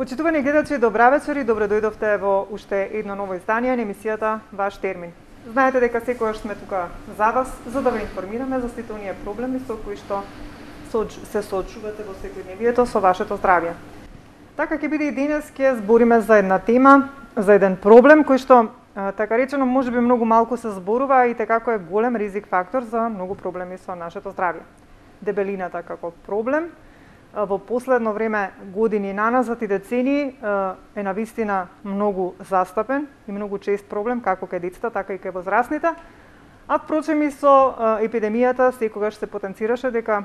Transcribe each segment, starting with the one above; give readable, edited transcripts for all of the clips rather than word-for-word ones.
Почитувани гледачи, добра вечер и добре дојдовте во уште едно ново издание на емисијата Ваш термин. Знаете дека секогаш сме тука за вас, за да ве информираме за сите оние проблеми со кои што се соочувате во секојдневието со вашето здравје. Така ќе биде и денес, ќе збориме за една тема, за еден проблем кој што, така речено, можеби многу малку се зборува и како е голем ризик фактор за многу проблеми со нашето здравје. Дебелината како проблем во последно време, години наназад и децении, е навистина многу застапен и многу чест проблем како кај децата, така и кај возрастните. А впрочем и со епидемијата секогаш се потенцираше дека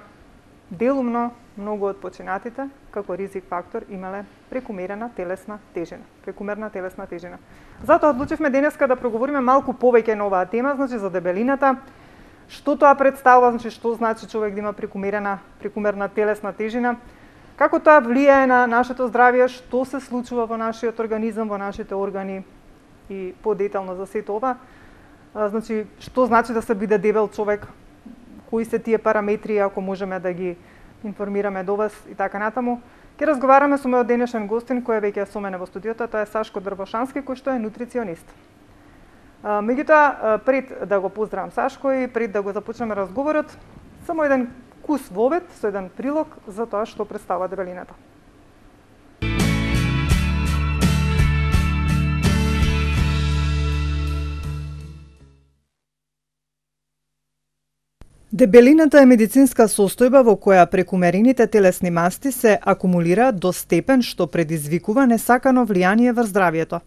делумно многу од починатите како ризик фактор имале прекумерна телесна тежина. Затоа одлучивме денеска да проговориме малку повеќе на оваа тема, значи за дебелината. Што тоа представува, значи што значи човек да има прекумерна телесна тежина, како тоа влијае на нашето здравје, што се случува во нашиот организам, во нашите органи и подетално за сето ова. Значи, што значи да се биде дебел човек, кои се тие параметри, ако можеме да ги информираме до вас и така натаму. Ќе разговараме со мојот денешен гостин кој е веќе со мене во студиото, тоа е Сашко Дрвошански, кој што е нутриционист. Меѓутоа, пред да го поздравам Сашко и пред да го започнеме разговорот, само еден кус во обед со еден прилог за тоа што представува дебелината. Дебелината е медицинска состојба во која прекумерените телесни масти се акумулираат до степен што предизвикува несакано влијание врз здравјето,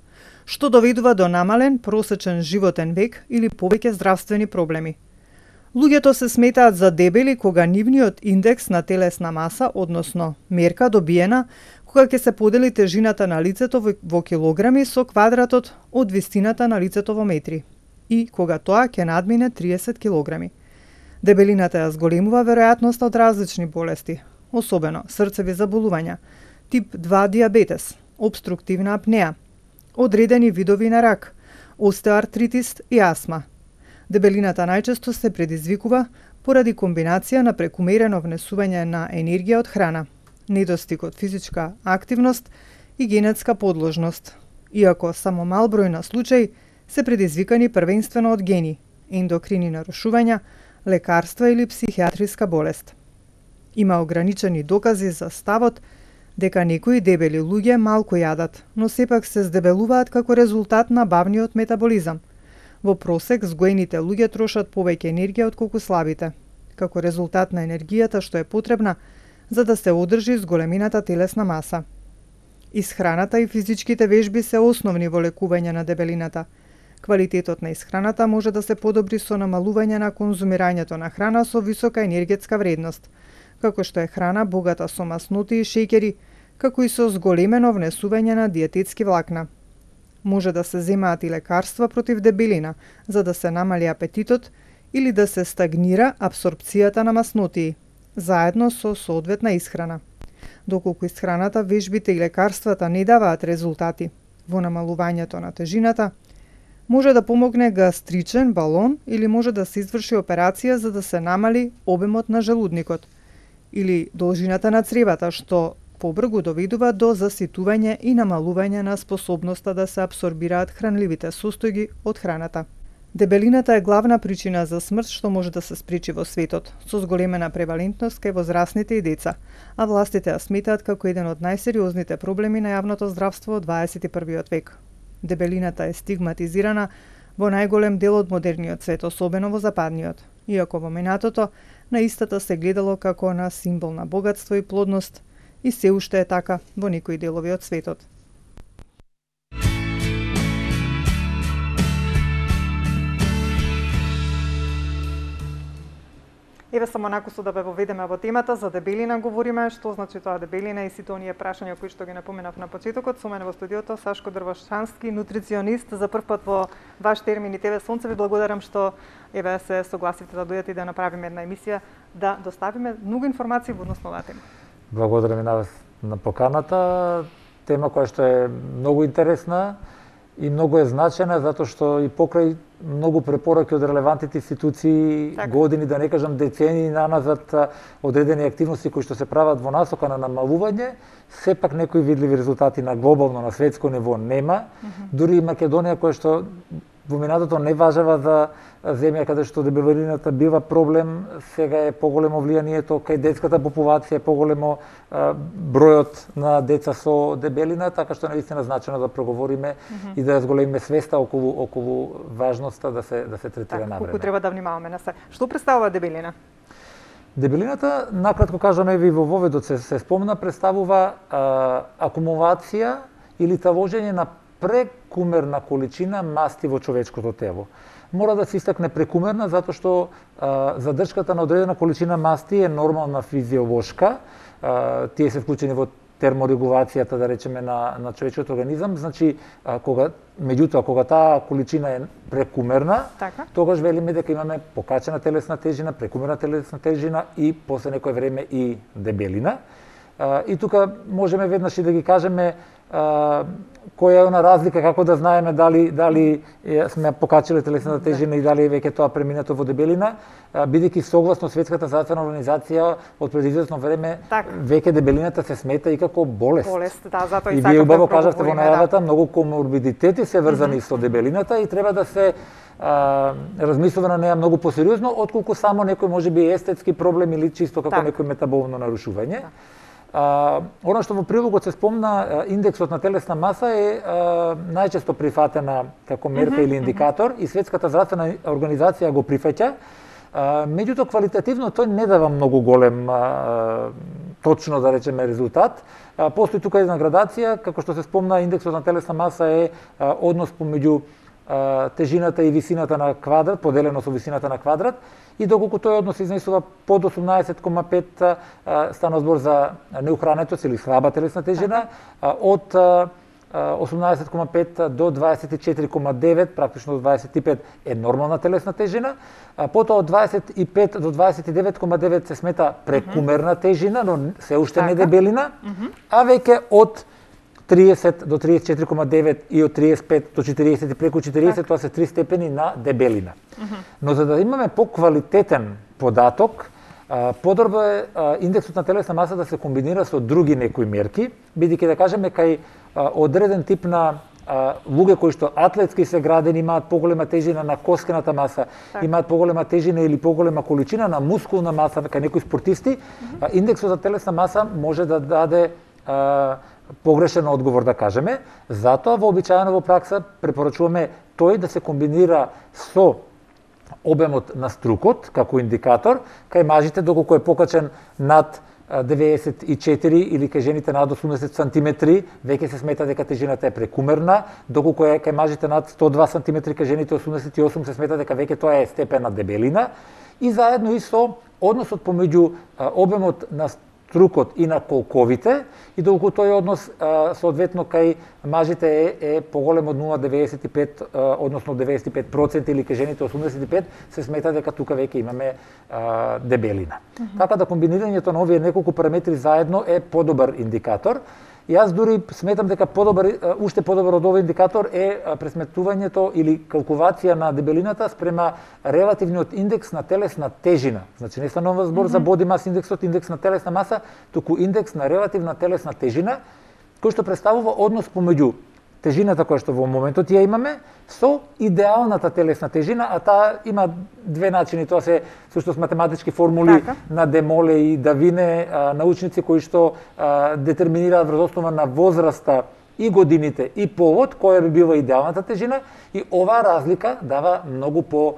што доведува до намален просечен животен век или повеќе здравствени проблеми. Луѓето се сметаат за дебели кога нивниот индекс на телесна маса, односно мерка добиена, кога ќе се подели тежината на лицето во килограми со квадратот од вистината на лицето во метри и кога тоа ќе надмине 30 килограми. Дебелината ја зголемува веројатноста од различни болести, особено срцеви заболувања, тип 2 диабетес, обструктивна апнеа, одредени видови на рак, остеоартритис и астма. Дебелината најчесто се предизвикува поради комбинација на прекумерено внесување на енергија од храна, недостиг од физичка активност и генетска подложност, иако само мал број на случаи се предизвикани првенствено од гени, ендокрини нарушувања, лекарства или психијатриска болест. Има ограничени докази за ставот дека некои дебели луѓе малку јадат, но сепак се здебелуваат како резултат на бавниот метаболизам. Во просек, згоените луѓе трошат повеќе енергија отколку слабите, како резултат на енергијата што е потребна за да се одржи зголемината телесна маса. Исхраната и физичките вежби се основни во лекување на дебелината. Квалитетот на исхраната може да се подобри со намалување на конзумирањето на храна со висока енергетска вредност, како што е храна богата со масноти и шеќери, како и со зголемено внесување на диететски влакна. Може да се земаат и лекарства против дебелина, за да се намали апетитот или да се стагнира апсорпцијата на маснотии, заедно со соодветна исхрана. Доколку исхраната, вежбите и лекарствата не даваат резултати во намалувањето на тежината, може да помогне гастричен балон или може да се изврши операција за да се намали обемот на желудникот или должината на цревата, што побрзо доведува до заситување и намалување на способноста да се апсорбираат хранливите состојби од храната. Дебелината е главна причина за смрт што може да се спречи во светот, со зголемена превалентност кај возрастните и деца, а властите ја сметаат како еден од најсериозните проблеми на јавното здравство од 21 век. Дебелината е стигматизирана во најголем дел од модерниот свет, особено во западниот, иако во минатото на истата се гледало како на символ на богатство и плодност, и се уште е така во некои делови од светот. Еве само накусо да ве воведеме во темата, за дебелина говориме, што значи тоа дебелина и сите оние прашања кои што ги напоменав на почетокот. Со мене во студиото Сашко Дрвошански, нутриционист, за прв пат во Ваш термин и ТВ Сонце. Ви благодарам што еве се согласивте да дојдете и да направиме една емисија, да доставиме многу информации во однос на оваа тема. Благодарам и на вас на поканата, тема која што е многу интересна и многу е значајна затоа што и покрај многу препораки од релевантните институции, години, да не кажам децении наназад, одредени активности кои што се прават во насока на намалување, сепак некои видливи резултати на глобално, на светско ниво нема. Дури и Македонија, која што во минатото не важава за земја каде што дебелината бива проблем, сега е поголемо влијанието кај детската популација, поголемо бројот на деца со дебелина, така што наистина значено да проговориме и да зголемиме свеста околу важноста да се третира навреме. Колку треба да внимаваме на се. Што представува дебелина? Дебелината, накратко кажам, ви во воведот се спомна, представува акумулација или тавожење на прекумерна количина масти во човечкото тело. Мора да се истакне прекумерна затоа што задршката на одредена количина масти е нормална физиолошка. Тие се вклучени во терморегулацијата, да речеме, на човечкиот организам. Значи, меѓутоа, кога таа количина е прекумерна, тогаш велиме дека имаме покачена телесна тежина, прекумерна телесна тежина и после некое време и дебелина. И тука можеме веднаш и да ги кажеме која е она разлика, како да знаеме дали сме покачиле телесната тежина и дали веќе тоа преминато во дебелина, бидејќи согласно Светската здравствена организација од пред известно време веќе дебелината се смета и како болест. Затоа и вие убаво кажавте во најавата, многу коморбидитети се врзани со дебелината и треба да се размислува на неа многу посериозно, отколку само некој можеби естетски проблем или чисто како некој метаболно нарушување. Оно што во прилогот се спомна, индексот на телесна маса е најчесто прифатена како мерка или индикатор и Светската здравствена организација го прифаќа. Меѓутоа, квалитативно тој не дава многу голем, точно да речеме, резултат. Постои тука една градација, како што се спомна, индексот на телесна маса е однос помеѓу тежината и висината на квадрат, поделено со висината на квадрат, и доколку тој однос изнесува под 18,5, стана збор за неухранетост или слаба телесна тежина, од 18,5 до 24,9, практично до 25 е нормална телесна тежина, потоа од 25 до 29,9 се смета прекумерна тежина, но се уште не дебелина, а веќе од 30 до 34,9 и од 35 до 40 и преку 40, тоа се 3 степени на дебелина. Но за да имаме поквалитетен податок, подобро е индексот на телесна маса да се комбинира со други некои мерки, бидејќи да кажеме кај одреден тип на луѓе кои што атлетски се градени, имаат поголема тежина на коскената маса, имаат поголема тежина или поголема количина на мускулна маса кај некои спортисти, индексот на телесна маса може да даде погрешен одговор, да кажеме. Затоа вообичаено во пракса препорачуваме тој да се комбинира со обемот на струкот како индикатор, кај мажите доколку е покачен над 94 или кај жените над 80 сантиметри, веќе се смета дека тежината е прекумерна, доколку е кај мажите над 102 сантиметри, кај жените 88 се смета дека веќе тоа е степен на дебелина, и заедно и со односот помеѓу обемот на струкот и на колковите, и доколку тој однос соодветно кај мажите е поголем од 0,95, односно 95% или кај жените 85%, се смета дека тука веќе имаме дебелина. Така да комбинирањето на овие неколку параметри заедно е подобар индикатор. Јас дури сметам дека уште подобар од овој индикатор е пресметувањето или калкулација на дебелината спрема релативниот индекс на телесна тежина. Значи не станува збор за body mass индексот, индекс на телесна маса, туку индекс на релативна телесна тежина, кој што представува однос помеѓу тежината која што во моментот ја имаме со идеалната телесна тежина, а таа има две начини, тоа се всушност математички формули на Де Моле и Давине, научници кои што детерминираат врз основа на возраста и годините и полот која би била идеалната тежина, и оваа разлика дава многу по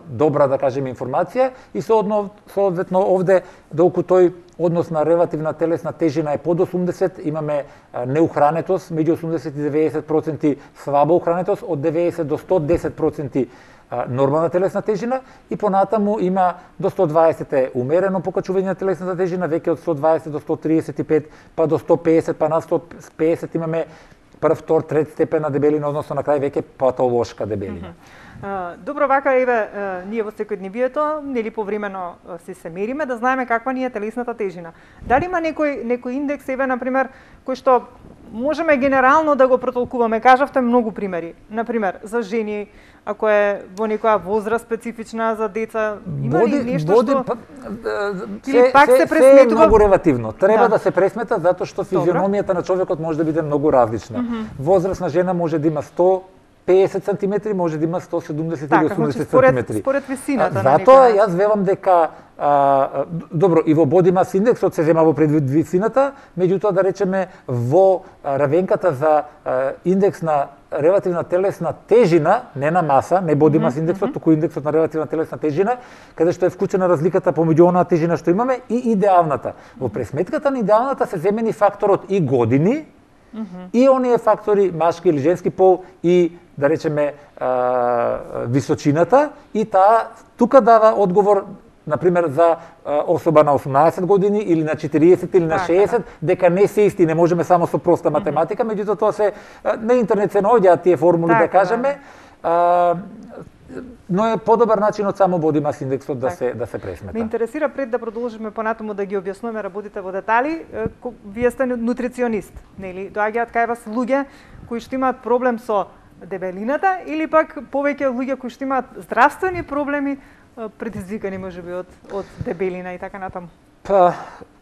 добра, да кажеме, информација, и соодветно овде доколку тој однос на релативна телесна тежина е под 80, имаме неухранетост меѓу 80 и 90%, слаба ухранетост од 90 до 110% нормална телесна тежина, и понатаму има до 120 е умерено покачување на телесната тежина, веќе од 120 до 135, па до 150, па на 150 имаме прв, втор, трет степен на дебелина, односно на крај веќе патолошка дебелина. Добро, вака еве ние во секојдневието, нели повремено се мериме да знаеме каква ни е телесната тежина. Дали има некој индекс, еве на пример, кој што можеме генерално да го протолкуваме. Кажавте многу примери. Например, за жени, ако е во некоја возраст специфична, за деца, има ли нешто што се е многу релативно. Треба да се пресмета затоа што физиономијата на човекот може да биде многу различна. Возрастна жена може да има 150 сантиметри, може да има 170 или 80 сантиметри. Според висината на затоа јас велам дека добро, и во body mass индексот се зема во предвид висината, меѓутоа да речеме во равенката за индекс на релативна телесна тежина, не на маса, не body mass индексот, туку индексот на релативна телесна тежина, каде што е вклучена разликата помеѓу онаа тежина што имаме и идеалната. Во пресметката на идеалната се земени факторот и години, и оние фактори, машки или женски пол, и да речеме височината, и таа тука дава одговор, например, за особа на 18 години или на 40 или на 60, дека не се исти, не можеме само со проста математика, меѓутоа тоа се на интернет се наоѓаат тие формули, да кажеме, но е подобар начин од само body mass индексот да се пресмета. Ме интересира, пред да продолжиме понатаму да ги објаснуваме работите во детали, вие сте нутриционист, нели? Доаѓаат кај вас луѓе кои што имаат проблем со дебелината или пак повеќе луѓе кои што имаат здравствени проблеми предизвикани можеби од дебелина и така натаму? Па,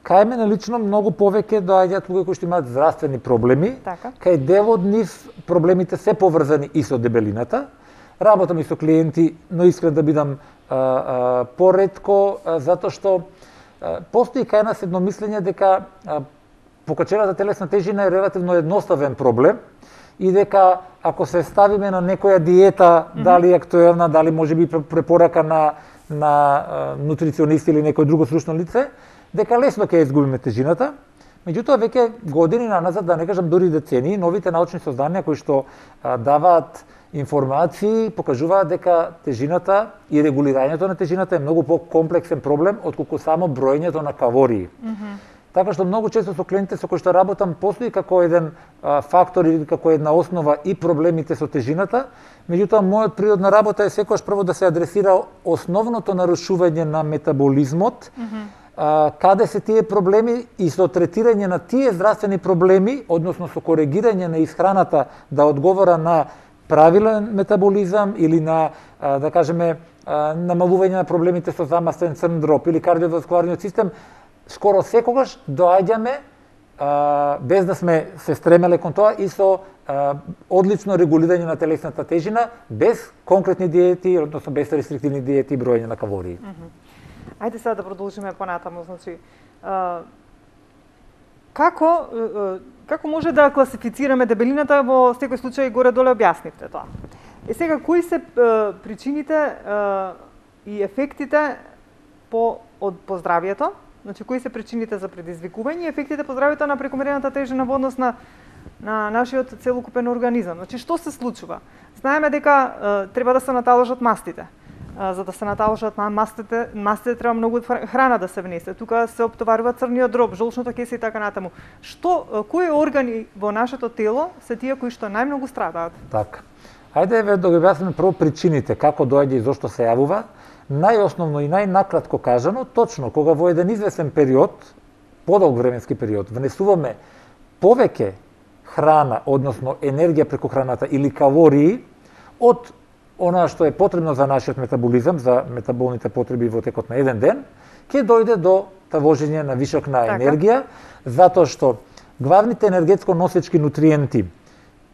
кај мене лично многу повеќе доаѓаат луѓе кои што имаат здравствени проблеми, кај дел од нив проблемите се поврзани и со дебелината. Работам и со клиенти, но искрен да бидам поретко, затоа што постои кај нас едномислење дека покачената телесна тежина е релативно едноставен проблем и дека ако се ставиме на некоја диета, дали актуелна, дали можеби препорака на нутриционист или некој друго стручно лице, дека лесно ќе изгубиме тежината. Меѓутоа, веќе години наназад, да не кажам дури децении, новите научни созданија кои што даваат информации покажуваат дека тежината и регулирањето на тежината е многу по-комплексен проблем отколку само броењето на калории. Така што многу често со клиентите со кои што работам постои како еден фактор или како една основа и проблемите со тежината, меѓутоа мојот природ на работа е секогаш прво да се адресира основното нарушување на метаболизмот, каде се тие проблеми и со третирање на тие здравствени проблеми, односно со коригирање на исхраната да одговора на правилен метаболизам или на, да кажеме, намалување на проблемите со замастен црн дроб или кардиоваскуларниот систем, скоро секогаш доаѓаме, без да сме се стремеле кон тоа, и со одлично регулирање на телесната тежина, без конкретни диети, односно без рестриктивни диети и броење на калории. Ајде сега да продолжиме понатаму, значи, како може да класифицираме дебелината, во секој случај горе-доле објаснивте тоа. Сега, кои се причините и ефектите по здравието? Значи, кои се причините за предизвикување и ефектите по здравието на прекомерната тежина во однос на нашиот целокупен организам? Значи, што се случува? Знаеме дека треба да се наталожат мастите. За да се наталожат мастите треба многу храна да се внесе. Тука се оптоварува црниот дроб, жолчното кесе и така натаму. Кои органи во нашето тело се тие кои што најмногу страдаат? Така. Ајде да ги објасниме прво причините, како доаѓа и зошто се јавува. Најосновно и најнакратко кажано, точно кога во еден известен период, подолг временски период, внесуваме повеќе храна, односно енергија преку храната или калории од она што е потребно за нашиот метаболизам, за метаболните потреби во текот на еден ден, ќе дојде до тавожење на вишок на енергија, затоа што главните енергетско носечки нутриенти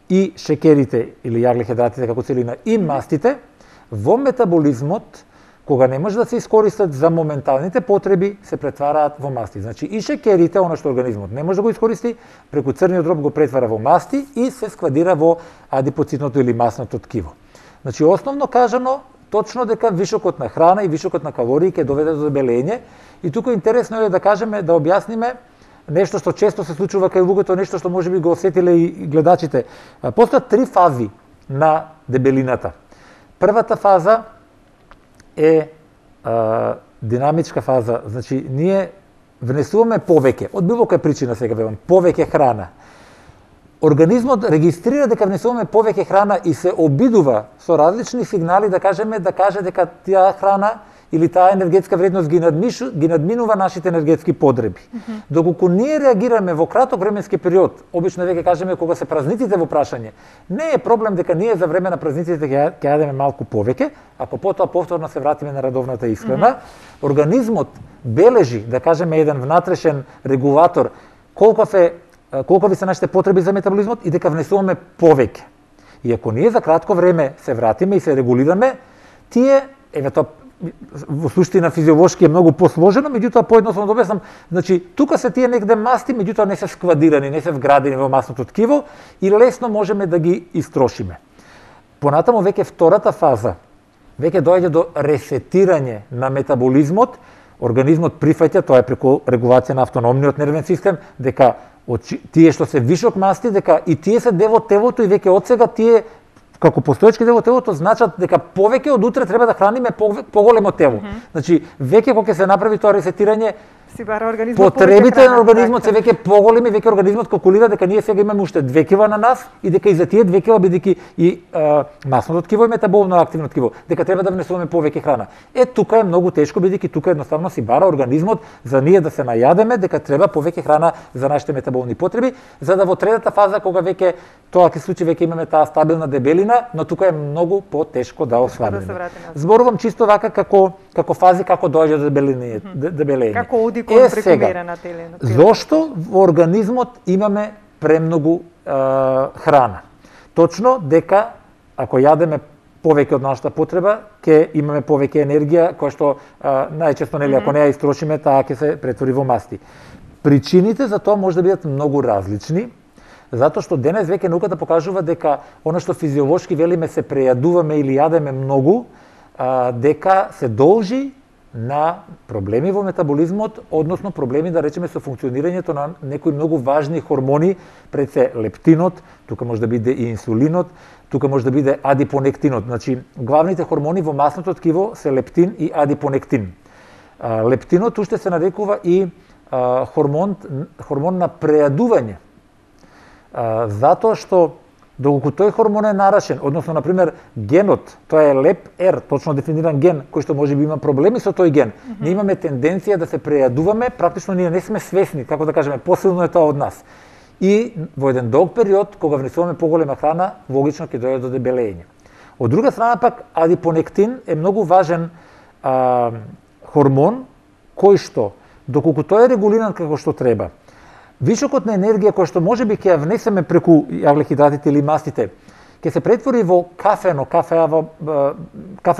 и шекерите или јаглехидратите како целина и мастите во метаболизмот, кога не може да се искористат за моменталните потреби, се претвараат во масти. Значи и шекерите, она што организмот не може да го искористи, преку црниот дроб го претвара во масти и се складира во адипоцитното или масното ткиво. Значи основно кажано, точно дека вишокот на храна и вишокот на калории ќе доведе до дебелење, и тука интересно е да кажеме, да објасниме нешто што често се случува кај луѓето, нешто што можеби го осетиле и гледачите. Постојат 3 фази на дебелината. Првата фаза е динамичка фаза, значи ние внесуваме повеќе, од било која причина сега велам, повеќе храна. Организмот регистрира дека внесуваме повеќе храна и се обидува со различни сигнали да каже дека таа храна или таа енергетска вредност ги надминува нашите енергетски потреби. Доколку ние реагираме во краток временски период, обично веќе кажеме кога се празниците во прашање, не е проблем дека ние за време на празниците ќе јадеме малку повеќе, ако потоа повторно се вратиме на редовната исхрана, организмот бележи, да кажеме, еден внатрешен регулатор колкови се нашите потреби за метаболизмот и дека внесуваме повеќе. И ако ние за кратко време се вратиме и се регулираме, тие, тоа во суштина физиолошки е многу посложено, меѓутоа поедноставно да објаснам, значи тука се тие негде масти, меѓутоа не се складирани, не се вградени во масното ткиво и лесно можеме да ги истрошиме. Понатаму веќе втората фаза, веќе доаѓа до ресетирање на метаболизмот, организмот прифаќа, тоа е преку регулација на автономниот нервен систем, дека тие што се вишок масти, дека и тие се дел од телото и веќе одсега тие како постоечки дел од телото значат дека повеќе од утре треба да храниме поголемо тело. Значи веќе кога ќе се направи тоа ресетирање, потребите на организмот се веќе поголеми, веќе организмот калкулира дека ние сега имаме уште 2 кила на нас и дека и за тие 2 кила бидејќи и масното ткиво е метаболно активно ткиво, дека треба да внесуваме повеќе храна. Тука е многу тешко бидејќи тука едноставно си бара организмот за ние да се најадеме дека треба повеќе храна за нашите метаболни потреби, за да во третата фаза кога веќе тоа ќе случи веќе имаме таа стабилна дебелина, но тука е многу потешко да освабиме. Зборувам чисто вака како фази како доаѓа до дебелење. Како оди кон прекумерена телена. Зошто во организмот имаме премногу храна? Точно дека ако јадеме повеќе од нашата потреба, ќе имаме повеќе енергија, која што најчесто нели ако не ја истрошиме, таа ќе се претвори во масти. Причините за тоа може да бидат многу различни, затоа што денес веќе науката покажува дека она што физиолошки велиме се прејадуваме или јадеме многу, дека се должи на проблеми во метаболизмот, односно проблеми да речеме со функционирањето на некои многу важни хормони, пред се лептинот, тука може да биде и инсулинот, тука може да биде адипонектинот. Значи, главните хормони во масното ткиво се лептин и адипонектин. Лептинот уште се нарекува и хормон на прејадување. Затоа што доколку тој хормон е нарашен, односно, например, генот, тоа е LEP-R, точно дефиниран ген, кој што може би има проблеми со тој ген, ние имаме тенденција да се прејадуваме, практично ние не сме свесни, како да кажеме, посилно е тоа од нас. И во еден долг период, кога внесуваме поголема храна, логично ќе дојде до дебелење. Од друга страна пак, адипонектин е многу важен хормон, кој што, доколку тој е регулиран како што треба, вишокот на енергија кој што можеби ќе ја внесеме преку јаглехидратите или мастите, ќе се претвори во кафено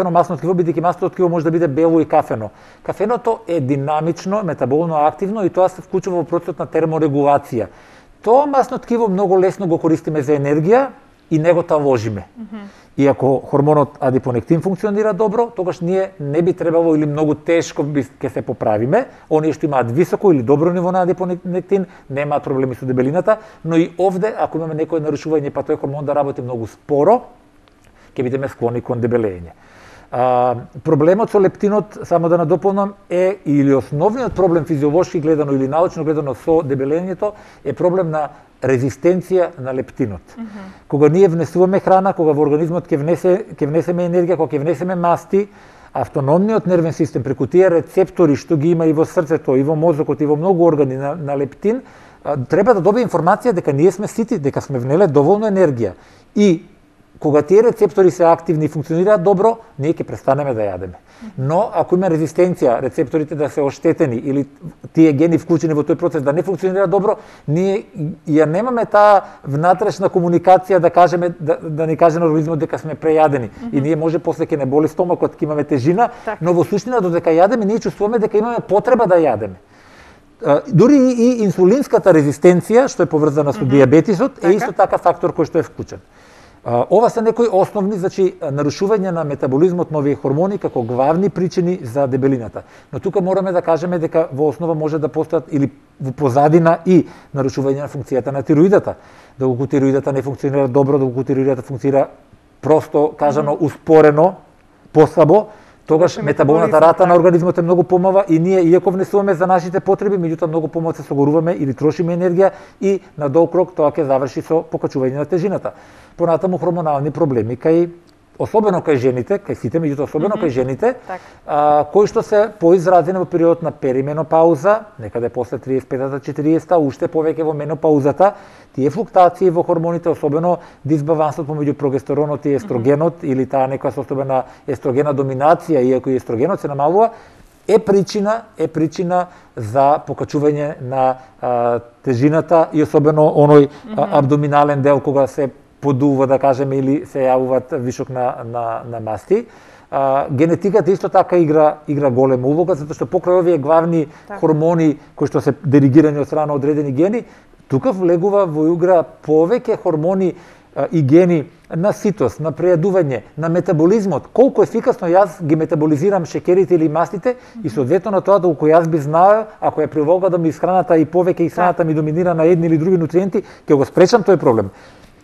масно ткиво, бидејќи масното ткиво може да биде бело и кафено. Кафеното е динамично, метаболно активно и тоа се вклучува во процесот на терморегулација. Тоа масно ткиво многу лесно го користиме за енергија и не го таложиме. И ако хормонот адипонектин функционира добро, тогаш ние не би требало или многу тешко ќе се поправиме. Оние што имаат високо или добро ниво на адипонектин немаат проблеми со дебелината, но и овде ако имаме некое нарушување па тој хормон да работи многу споро, ќе бидеме склони кон дебелење. Проблемот со лептинот, само да надополнам, е или основниот проблем физиолошки гледано или научно гледано со дебелењето е проблем на резистенција на лептинот. Кога ние внесуваме храна, кога во организмот ќе внесеме енергија, кога ќе внесеме масти, автономниот нервен систем преку тие рецептори што ги има и во срцето, и во мозокот, и во многу органи на лептин, треба да добие информација дека ние сме сити, дека сме внеле доволно енергија. И кога тие рецептори се активни и функционираат добро, ние ќе престанеме да јадеме. Но ако има резистенција, рецепторите да се оштетени или тие гени вклучени во тој процес да не функционираат добро, ние ја немаме таа внатрешна комуникација да кажеме да ни каже на организмот дека сме прејадени. И ние може после ќе не боли стомакот, ќе имаме тежина, но во суштина додека јадеме ние чувствуваме дека имаме потреба да јадеме. Дури и инсулинската резистенција, што е поврзана со дијабетисот, е исто така фактор кој што е вклучен. Ова се некои основни, значи, нарушување на метаболизмот на овие хормони како главни причини за дебелината. Но тука мораме да кажеме дека во основа може да постојат или во позадина и нарушување на функцијата на тироидата. Доколку тироидата не функционира добро, доколку тироидата функционира просто кажано успорено, послабо, тогаш метаболната рата на организмот е многу помала и ние, иако внесуваме за нашите потреби, меѓутоа многу помал се согоруваме или трошиме енергија и на долг рок тоа ќе заврши со покачување на тежината. Понатаму хормонални проблеми кај особено кај жените, кај сите, меѓутоа особено кај жените, кои што се поизразени во период на перименопауза, некаде после 35-40, уште повеќе во менопаузата, тие флуктации во хормоните, особено дисбалансот помеѓу прогестеронот и естрогенот, или таа некоја состојба на естрогена доминација, иако и естрогенот се намалува, е причина за покачување на тежината и особено оној абдоминален дел кога се подува, да кажеме, или се јавуваат вишок на масти. Генетиката исто така игра голема улога, затоа што покрај овие главни хормони кои што се диригирани од страна одредени гени, тука влегува во игра повеќе хормони и гени на ситост, на прејадување, на метаболизмот, колку ефикасно јас ги метаболизирам шеќерите или мастите и соодветно на тоа доколку јас би знаел, ако ја приволгадам исхраната и повеќе исхраната ми доминира на едни или други нутриенти, ќе го спречам тој проблем.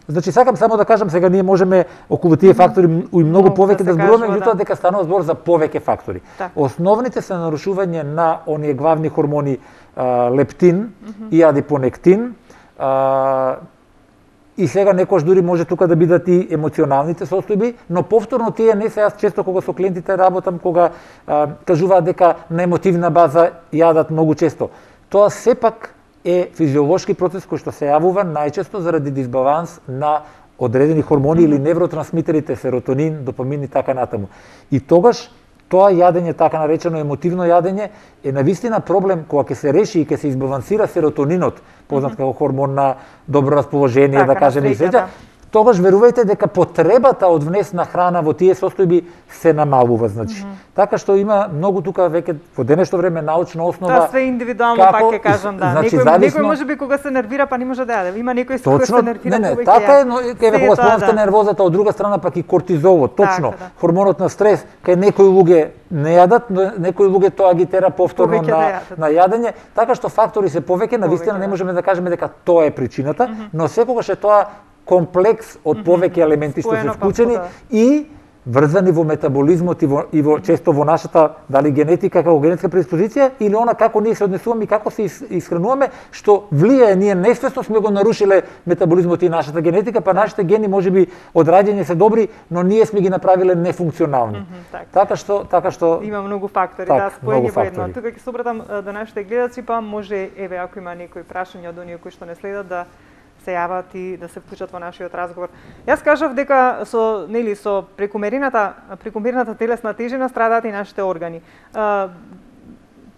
Значи сакам само да кажам, сега ние можеме околу тие фактори и многу повеќе да зборуваме, меѓутоа дека станува збор за повеќе фактори. Основните се нарушување на оние главни хормони лептин и адипонектин, и сега некош дури може тука да бидат и емоционалните состојби, но повторно тие не се, јас често кога со клиентите работам, кога кажуваат дека на емотивна база јадат многу често. Тоа сепак е физиолошки процес кој што се јавува најчесто заради дисбаланс на одредени хормони или невротрансмитерите, серотонин, допамин и така натаму. И тогаш тоа јадење, така наречено емотивно јадење, е навистина проблем кога ќе се реши и ќе се избалансира серотонинот, познат како хормон на добро расположение, да кажеме и среќа, тогаш верувајте дека потребата од внесна храна во тие состојби се намалува, значи. Така што има многу тука веќе во денешно време научна основа. Тоа све индивидуално пак ќе кажам, да. Значи, некој можеби кога се нервира па не може да јаде. Има некој кога се нервира повеќе. Не, така е, но кога спомнавте нервозата, од друга страна пак и кортизолот, точно. Хормонот на стрес, кај некои луѓе не јадат, но некои луѓе тоа ги тера повторно на јадење, така што фактори се повеќе, навистина не можеме да кажеме дека тоа е причината, но секогаш е тоа комплекс од повеќе елементи што се вклучени и врзани во метаболизмот и во често во нашата дали генетика како генетска предиспозиција или она како ние се однесуваме и како се исхрануваме, што влијае, ние несвесно сме го нарушиле метаболизмот и нашата генетика, па нашите гени можеби од раѓање се добри, но ние сме ги направиле нефункционални. Така што има многу фактори, да, споени во едно. Тука ќе се обратам до нашите гледачи, па може еве ако има некои прашања од оние кои што не следат да се јават и да се вклучат во нашиот разговор. Јас кажав дека со прекумерната телесна тежина страдаат и нашите органи.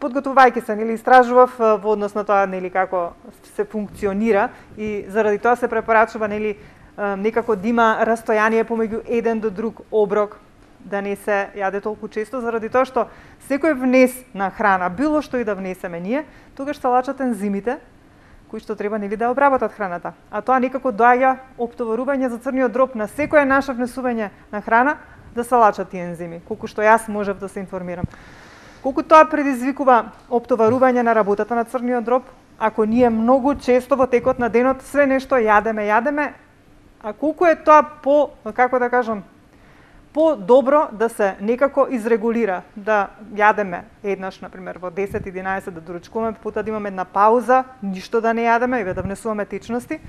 Подготвувајќи се, истражував во однос на тоа како се функционира и заради тоа се препорачува некако да има растојание помеѓу еден до друг оброк, да не се јаде толку често, заради тоа што секој внес на храна, било што и да внесеме ние, тогаш се лачат ензимите кои што треба да обработат храната. А тоа некако доаѓа оптоварување за црниот дроб на секое наше внесување на храна да се лачат тие ензими, колку што јас можев да се информирам. Колку тоа предизвикува оптоварување на работата на црниот дроб, ако ние многу често во текот на денот све нешто јадеме, а колку е тоа по-добро да се некако изрегулира, да јадеме еднаш, например, во 10-11 да доручкуваме, потоа да имаме една пауза, ништо да не јадеме и да внесуваме течности,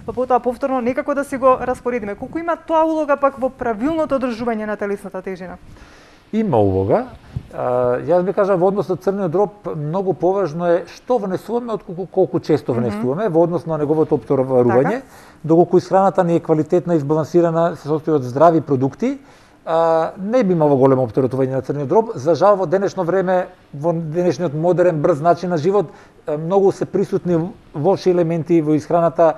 па потоа повторно некако да си го распоредиме. Колку има тоа улога пак во правилното одржување на телесната тежина? Има улога. Јас би кажал во однос на црниот дроб многу поважно е што внесуваме отколку колку често внесуваме во однос на неговото оптоварување, доколку исхраната не е квалитетна и избалансирана, се состои од здрави продукти, не би имало големо оптеретување на црниот дроб. За жал во денешно време, во денешниот модерен брз начин на живот, многу се присутни лоши елементи во исхраната,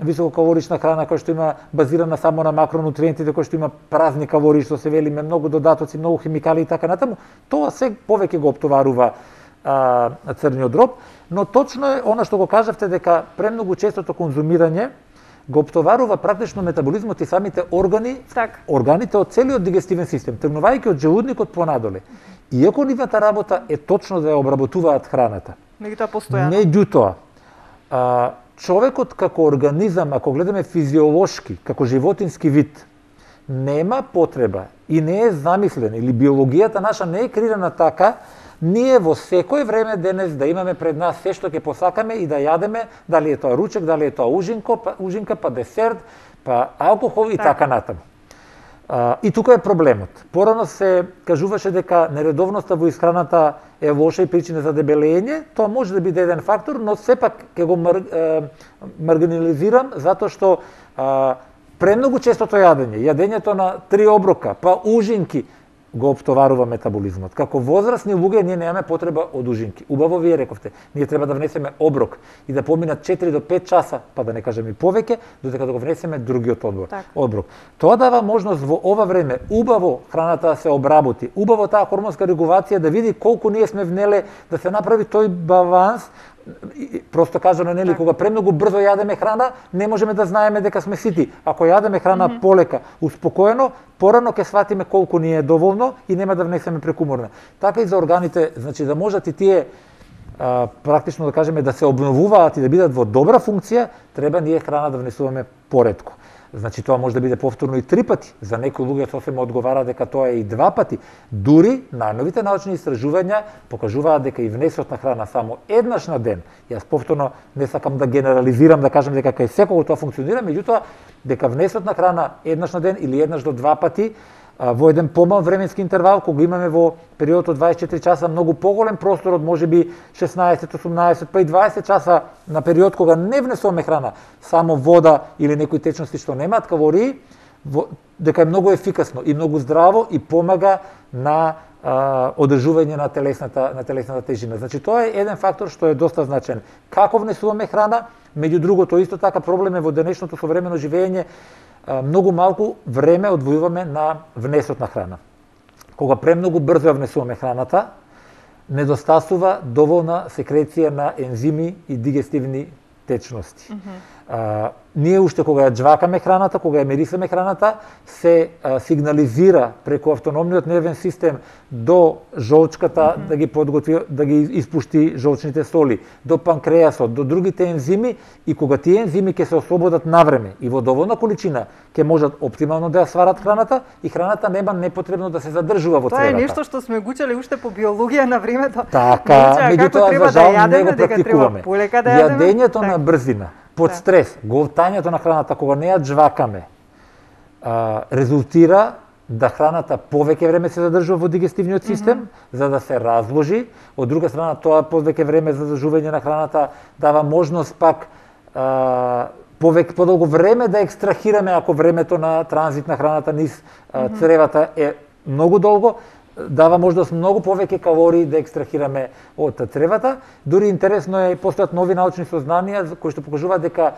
висококалорична храна која што има базирана само на макронутриентите, која што има празни калории, што се велиме многу додатоци, многу химикали и така натаму. Тоа се повеќе го оптоварува црниот дроб, но точно е она што го кажавте дека премногу честото конзумирање го оптоварува практично метаболизмот и самите органите од целиот дигестивен систем, тргнувајќи од желудникот понадоле. Иако нивната работа е точно да ја обработуваат храната. Меѓутоа, човекот како организам, ако гледаме физиолошки, како животински вид, нема потреба и не е замислен, или биологијата наша не е креирана така, ние во секој време денес да имаме пред нас се што ќе посакаме и да јадеме, дали е тоа ручек, дали е тоа ужинка, па десерт, па алкохол и така натаму. И тука е проблемот. Порано се кажуваше дека нередовноста во исхраната е лоша и причина за дебелење. Тоа може да биде еден фактор, но сепак ќе го маргинализирам затоа што премногу честото јадењето на 3 оброка, па ужинки, го оптоварува метаболизмот. Како возрастни луѓе ние немаме потреба од ужинки. Убаво вие рековте, ние треба да внесеме оброк и да поминат 4 до 5 часа, па да не кажем и повеќе, додека да го внесеме другиот оброк. Тоа дава можност во ова време убаво храната да се обработи, убаво таа хормонска регулација да види колку ние сме внеле, да се направи тој баланс. Просто кажано, нели, кога премногу брзо јадеме храна, не можеме да знаеме дека сме сити. Ако јадеме храна полека, успокоено, порано ќе сватиме колку ни е доволно и нема да внесеме прекуморно. Така и за органите, значи да можат и тие практично да кажеме да се обновуваат и да бидат во добра функција, треба ние храна да внесуваме поретко. Значи тоа може да биде повторно и 3 пати. За некои луѓе сосема одговара дека тоа е и 2 пати. Дури најновите научни истражувања покажуваат дека и внесот на храна само еднаш на ден. Јас повторно не сакам да генерализирам, да кажам дека кај секого тоа функционира, меѓутоа дека внесот на храна еднаш на ден или еднаш до 2 пати во еден помал временски интервал, кога имаме во период од 24 часа многу поголем простор од можеби 16, 18, па и 20 часа на период кога не внесуваме храна, само вода или некои течности што немаат калории, дека е многу ефикасно и многу здраво и помага на одржување на телесната тежина. Значи тоа е еден фактор што е доста значен. Како внесуваме храна, меѓу другото исто така проблем е во денешното современо живење, многу малку време одвојуваме на внесот на храна. Кога премногу брзо ја внесуваме храната, недостасува доволна секреција на ензими и дигестивни течности. Ние уште кога ја џвакаме храната, кога ја мерисаме храната, се сигнализира преку автономниот нервен систем до жолчката да ги подготви, да ги испушти жолчните соли, до панкреасот, до другите ензими, и кога тие ензими ќе се ослободат навреме и во доволна количина, ќе можат оптимално да ја сварат храната и храната нема непотребно да се задржува во цревата. Тоа е нешто што сме го учеле уште по биологија на времето. Така, меѓутоа за жал не го практикуваме. Јадењето на брзина, под стрес, голтањето на храната кога не ја џвакаме, резултира да храната повеќе време се задржува во дигестивниот систем, за да се разложи. Од друга страна, тоа повеќе време за задржување на храната дава можност пак подолго време да екстрахираме, ако времето на транзит на храната низ цревата е многу долго, дава можност многу повеќе калории да екстрахираме од цревата. Дури интересно е, постојат нови научни сознанија кои што покажуваат дека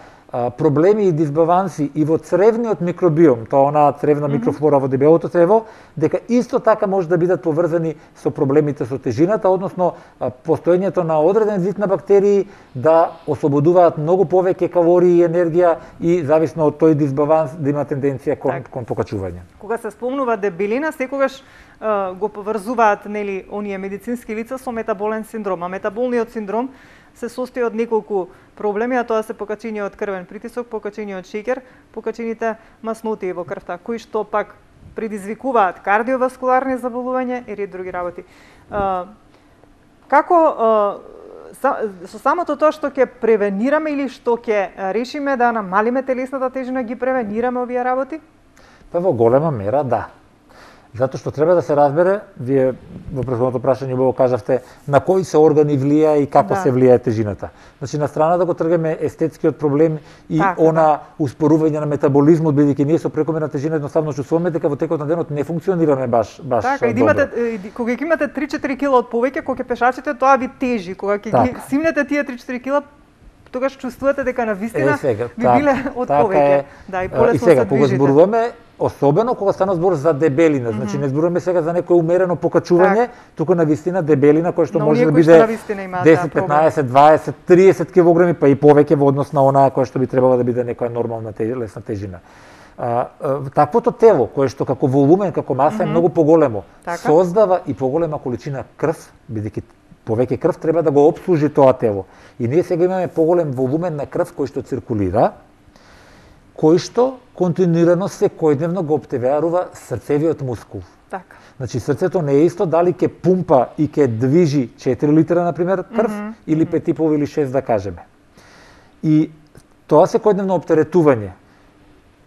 проблеми и дисбаланси и во цревниот микробиом, тоа онаа цревна микрофлора во дебелото црево, дека исто така може да бидат поврзани со проблемите со тежината, односно постоењето на одреден вид на бактерии да ослободуваат многу повеќе калории и енергија и зависно од тој дисбаланс да има тенденција кон покачување. Кога се спомнува дебелина, секогаш го поврзуваат нели оние медицински лица со метаболен синдром, а метаболниот синдром се состои од неколку проблеми, а тоа се покачениот крвен притисок, покачениот шеќер, покачените масноти во крвта, кои што пак предизвикуваат кардиоваскуларни заболувања и ред други работи. Како со самото тоа што ќе превенираме или што ќе решиме да намалиме телесната тежина, ги превенираме овие работи? Па во голема мера да. Затоа што треба да се разбере, вие во претходното прашање убаво кажавте на кои се органи влија и како се влијае тежината. Значи на страна да го тргаме естетскиот проблем и успорување на метаболизмот, бидејќи ние со прекомерна тежина едноставно чувствуваме дека во текот на денот не функционираме баш така, добро. Кога имате 3-4 кила од повеќе, кога ќе пешачите, тоа ви тежи. Кога ќе ги симнете тие 3-4 кила, тогаш чувствувате дека навистина би биле од повеќе. Да, и полесно се движите. И сега, кога зборуваме, особено кога стана збор за дебелина, значи не зборуваме сега за некое умерено покачување, туку навистина дебелина која што може да биде 10, 15, 20, 30 килограми, па и повеќе во однос на онаа која што би требало да биде некоја нормална телесна тежина. Таквото тело, кое што како волумен, како маса е многу поголемо, создава и поголема количина крв, бидејќи повеќе крв треба да го опслужи тоа тело. И ние сега имаме поголем волумен на крв кој што циркулира, кој што континуирано секојдневно го оптеварува срцевиот мускул. Така. Значи срцето не е исто дали ќе пумпа и ќе движи 4 литра на пример крв или 5,5 или 6 да кажеме. И тоа секојдневно оптеретување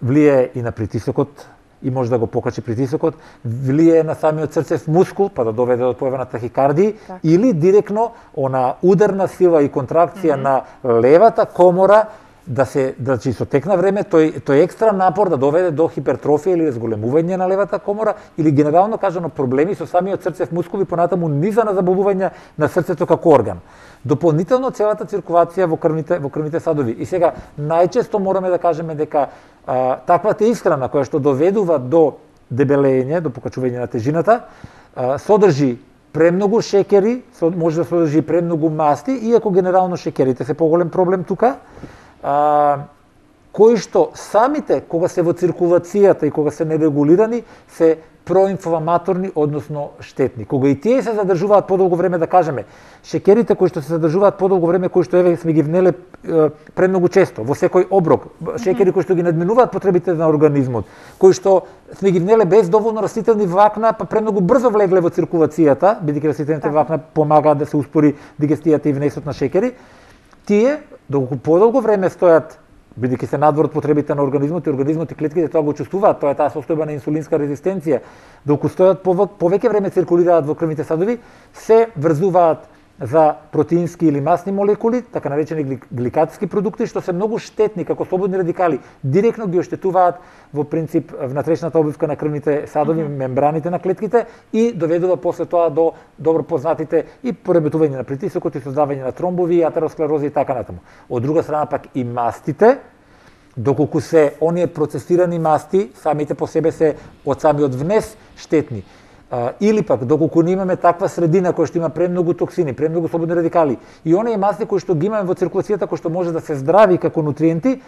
влијае и на притисокот и може да го покачи притисокот, влијае на самиот срцев мускул, па да доведе до појава на тахикардија, или директно она ударна сила и контракција на левата комора, значи со тек на време тој екстра напор да доведе до хипертрофија или разголемување на левата комора, или генерално кажано проблеми со самиот срцев мускул и понатаму низа на заболувања на срцето како орган. Дополнително целата циркулација во крвните садови. И сега најчесто мораме да кажеме дека таквата исхрана која што доведува до дебелење, до покачување на тежината, содржи премногу шекери, може да содржи премногу масти, иако генерално шекерите се поголем проблем тука, кои што самите, кога се во циркулацијата и кога се нерегулирани, се проинфламаторни, односно штетни. Кога и тие се задржуваат подолго време, да кажеме, шекерите кои што се задржуваат подолго време, кои што еве сме ги внеле премногу често, во секој оброк, шекери кои што ги надминуваат потребите на организмот, кои што сме ги внеле без доволно растителни влакна, па премногу брзо влегле во циркулацијата, бидејќи растителните влакна помагаат да се успори дигестијата и внесот на шекери, тие, доколку подолго време стојат, бидејќи се надвор од потребите на организмот и организмот и клетките тоа го чувствуваат, тоа е таа состојба на инсулинска резистенција, доколку стојат повеќе време циркулираат во крвните садови, се врзуваат за протеински или масни молекули, така наречени гликатски продукти, што се многу штетни како слободни радикали, директно ги оштетуваат во принцип внатрешната обвивка на крвните садови, мембраните на клетките и доведува после тоа до добро познатите и пореметување на притисокот и создавање на тромбови, атеросклероза и така натаму. Од друга страна пак и мастите, доколку се оние процесирани масти, самите по себе се од самиот внес штетни. Или пак, доколку не имаме таква средина која што има премногу токсини, премногу слободни радикали, и оние масти кои што ги имаме во циркулацијата, кои што може да се здрави како нутриенти,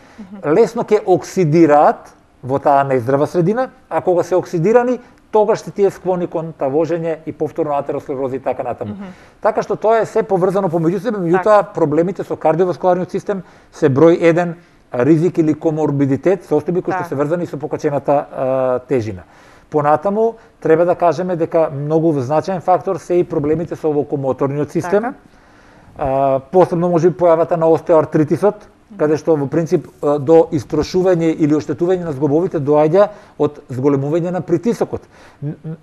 лесно ќе оксидираат во таа нездрава средина, а кога се оксидирани, тогаш се тие склони кон тавожење и повторно атеросклероза и така натаму. Така што тоа е се поврзано помеѓу себе, меѓутоа проблемите со кардиоваскуларниот систем се број 1 ризик или коморбидитет, состојби кои што се врзани со покачената тежина. Понатаму, треба да кажеме дека многу значаен фактор се и проблемите со локомоторниот систем. Посебно може би појавата на остеоартритисот, каде што во принцип до истрошување или оштетување на зглобовите доаѓа од зголемување на притисокот.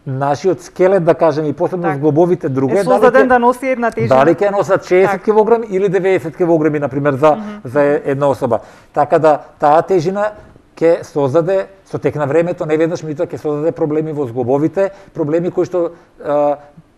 Нашиот скелет, да кажеме, и посебно зглобовите друге, е создаден да носи една тежина. Дали ќе носат 60 кг или 90 кг, например, за една особа. Така да таа тежина ќе создаде со тек на времето, не веднаш, меѓутоа ќе создаде проблеми во зглобовите, проблеми кои што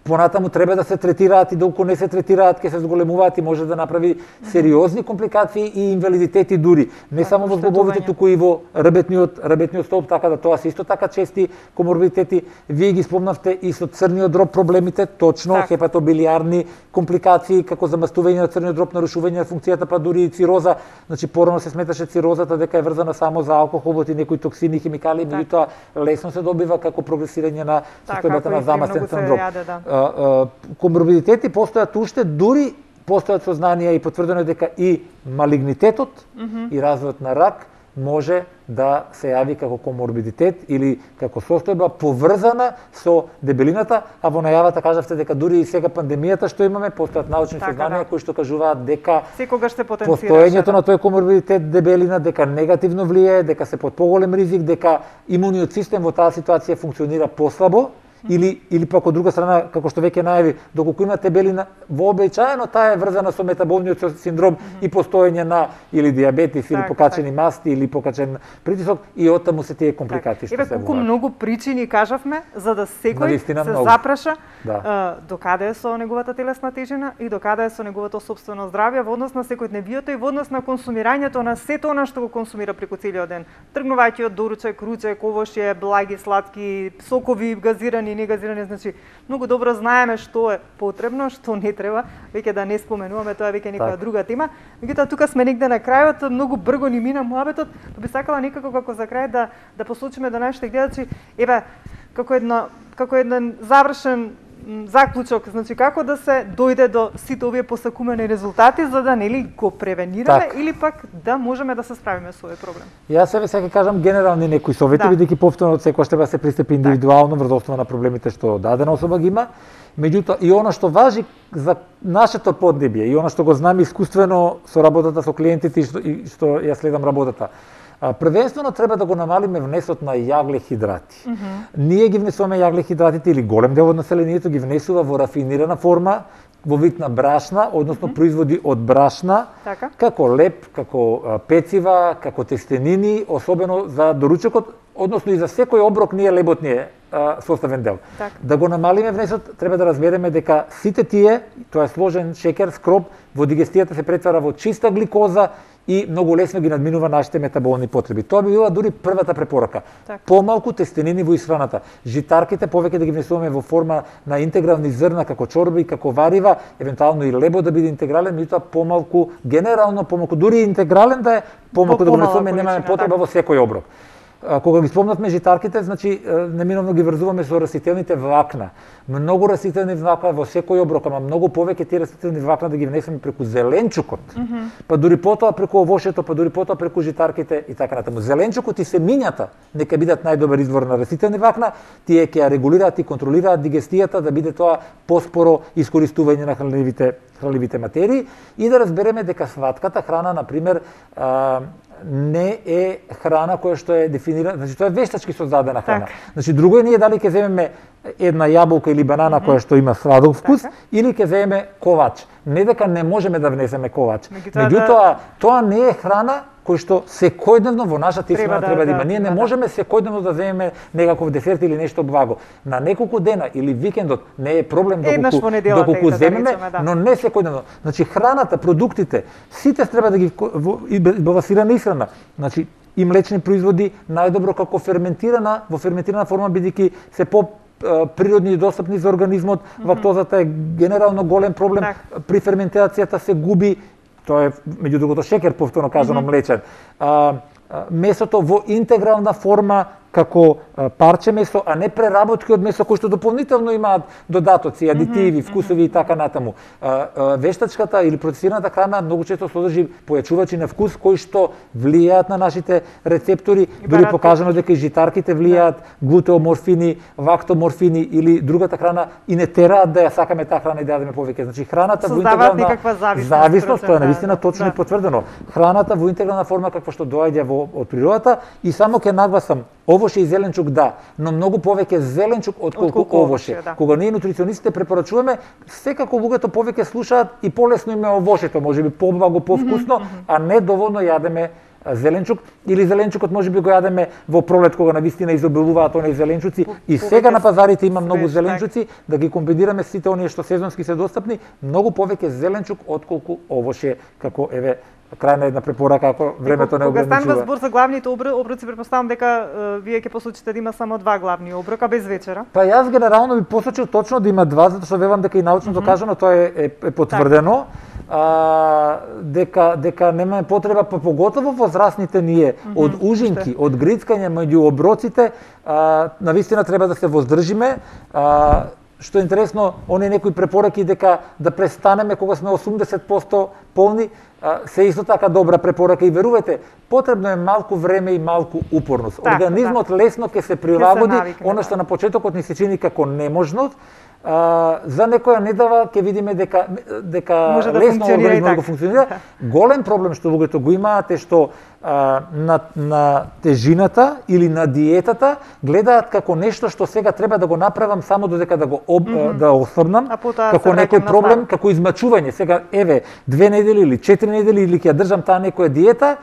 понатаму треба да се третираат и доколку не се третираат ќе се зголемуваат и може да направи сериозни компликации и инвалидитети дури, не само во зглобовите, туку и во ребетниот столб, така да тоа се исто така чести коморбидитети. Вие ги спомнавте и со црниот дроб проблемите, точно, хепатобилиарни компликации како замастување на црниот дроб, нарушување на функцијата, па дури и цироза. Значи порано се сметаше цирозата дека е врзана само за алкохолот и некои токсини, химикали, меѓутоа лесно се добива како прогресирање на состојбата на замасен црн коморбидитети постојат уште, дури постојат сознанија и потврдено дека и малигнитетот и развојот на рак може да се јави како коморбидитет или како состојба поврзана со дебелината, а во најавата кажавте дека дури и сега пандемијата што имаме, постојат научни сознанија кои што кажуваат дека секогаш се потенцира постоењето на тој коморбидитет дебелина, дека негативно влијае, дека се под поголем ризик, дека имуниот систем во таа ситуација функционира послабо, или пак од друга страна, како што веќе најави, доколку има дебелина, вообичаено таа е врзана со метаболниот синдром и постоење на или дијабетис, или покачени масти, или покачен притисок, и оттаму се тие компликации што се колку многу причини кажавме за да секој се запраша докаде е со неговата телесна тежина и докаде е со неговото сопствено здравје во однос на секојдневието и во однос на консумирањето на сето она што го консумира преку целиот ден. Тргнувајќи од доручек, ручек, овошје, благи, сладки, сокови, газирани и негазирани, значи многу добро знаеме што е потребно, што не треба, веќе да не споменуваме, тоа е веќе нека друга тема. Меѓутоа тука сме негде на крајот, многу брго ни мина муабетот, па би сакала некако како за крај да посочиме до нашите гледачи, еве како еден завршен заклучок, значи како да се дојде до сите овие посакумени резултати за да нели го превенираме или пак да можеме да се справиме со овој проблем. Јас себе сега кажам генерални некои совети, бидејќи повторно секој треба да се пристапи индивидуално врз основа на проблемите што дадена особа ги има. Меѓутоа и она што важи за нашето поднебје и она што го знам искуствено со работата со клиентите и што ја следам работата. Првенствено треба да го намалиме внесот на јаглехидрати. Ние ги внесуваме јаглехидратите или голем дел од населението ги внесува во рафинирана форма, во вид на брашна, односно производи од брашна, како леп, како пецива, како тестенини, особено за доручокот, односно и за секој оброк лебот ни е составен дел. Да го намалиме внесот, треба да разбереме дека сите тие, тоа е сложен шекер, скроп, во дигестијата се претвара во чиста гликоза и многу лесно ги надминува нашите метаболни потреби. Тоа би била дури првата препорака. Помалку тестенини во исхраната. Житарките повеќе да ги внесуваме во форма на интегрални зрна, како чорби, како варива, евентуално и лебо да биде интегрален, меѓутоа помалку, генерално помалку, дури интегрален да е, помалку да го внесуваме, немаме потреба во секој оброк. Кога ги спомнавме житарките, значи неминовно ги врзуваме со растителните влакна. Многу растителни влакна во секој оброк, ама многу повеќе тие растителни влакна да ги внесеме преку зеленчукот. Па дури потоа преку овошето, па дури потоа преку житарките и така натаму. Зеленчукот и семињата нека бидат најдобар извор на растителни влакна, тие ќе ја регулираат и контролираат дигестијата да биде тоа поспоро искористување на хранливите материи и да разбереме дека сватката храна, на пример, не е храна која што е дефинирана, значи тоа е вештачки создадена храна. Значи друго е ние дали ќе земеме една јаболка или банана која што има сладок вкус или ќе земеме ковач. Не дека не можеме да внесеме ковач. Меѓутоа тоа не е храна кој што секојдневно во нашата исхрана треба да има. Ние не можеме секојдневно да земеме некаков десерт или нешто благо. На неколку дена или викендот не е проблем доколку земеме, но не секојдневно. Значи храната, продуктите, сите треба да ги балансирана исхрана. Значи и млечни производи најдобро како во ферментирана форма бидејќи се природни и достапни за организмот. Лактозата е генерално голем проблем. При ферментацијата се губи. Тоа е, меѓу другото, шекер, повторно кажано, млечен. Месото во интегрална форма како парче месо, а не преработки од месо кои што дополнително имаат додатоци, адитиви, вкусови и така натаму. Вештачката или процесираната храна многу често содржи појачувачи на вкус кои што влијаат на нашите рецептори, дури покажано дека и житарките влијаат, глутеоморфини, лактоморфини или другата храна и не тераат да ја сакаме таа храна и да јадеме повеќе. Значи храната во интегрална зависност, тоа е навистина точно и потврдено. Храната во интегрална форма како што доаѓа од природата и само ќе нагласам овоше и зеленчук да, но многу повеќе зеленчук отколку овоше. Кога ние нутриционистите препорачуваме, секако луѓето повеќе слушаат и полесно им е овошето, можеби поблаго, повкусно, а не доволно јадеме зеленчук или зеленчукот можеби го јадеме во пролет кога навистина изобилуваат оние зеленчуци и сега на пазарите има многу зеленчуци, да ги комбинираме сите оние што сезонски се достапни, многу повеќе зеленчук отколку овоше, како еве крајна една препорака ако времето не ограничува. Кога станува збор за главните оброци, претпоставам дека вие ќе посочите да има само два главни оброка без вечера. Па јас генерално би посочил точно да има два, затоа што велам дека и научно докажано тоа е потврдено. Дека немаме потреба, па поготово возрастните ние, од ужинки, од грицкање меѓу оброците, навистина треба да се воздржиме. Што е интересно, оние некои препораки дека да престанеме кога сме 80% полни, се исто така добра препорака и верувајте, потребно е малку време и малку упорност. Организмот лесно ќе се прилагоди, она што на почетокот ни се чини како неможност, за некоја недава ќе видиме дека лесно организмот го функционира. Голем проблем што луѓето го имаат е што на тежината или на диетата гледаат како нешто што сега треба да го направам само додека да го да ослабнам, како некој проблем, како измачување. Сега еве 2 недели или 4 недели или ќе ја држам таа некоја диета,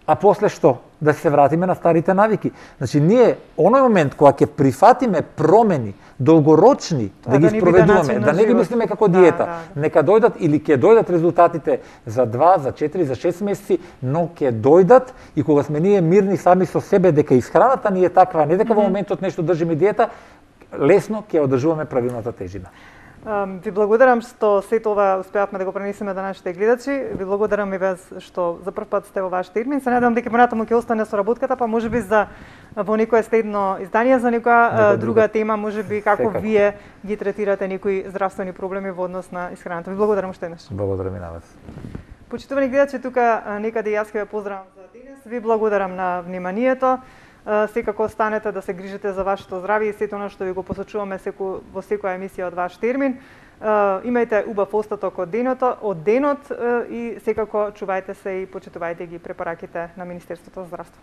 а после што? Да се вратиме на старите навики. Значи ние оној момент кога ќе прифатиме промени долгорочни, да ги спроведуваме, да не ги мислиме како диета, нека дојдат или ќе дојдат резултатите за 2, за 4, за 6 месеци, но ќе дојдат и кога сме ние мирни сами со себе дека исхраната ни е таква, не дека во моментот нешто држиме диета, лесно ќе одржуваме правилната тежина. Ви благодарам што сето ова успеавме да го пренесеме до нашите гледачи. Ви благодарам и вас што за прв пат сте во ваш термин. Се надевам дека понатаму ќе остане соработката, па можеби во некое следно издание за некоја друга тема, можеби како вие ги третирате некои здравствени проблеми во однос на исхраната. Ви благодарам уште еднаш. Благодарам и на вас. Почитувани гледачи, тука некаде јас ќе ве поздравам за денес. Ви благодарам на вниманието. Секако останете да се грижите за вашето здравје и сето она што ви го посочуваме во секоја емисија од ваш термин. Имајте убав остаток од денот и секако чувајте се и почитувајте ги препораките на Министерството за здравство.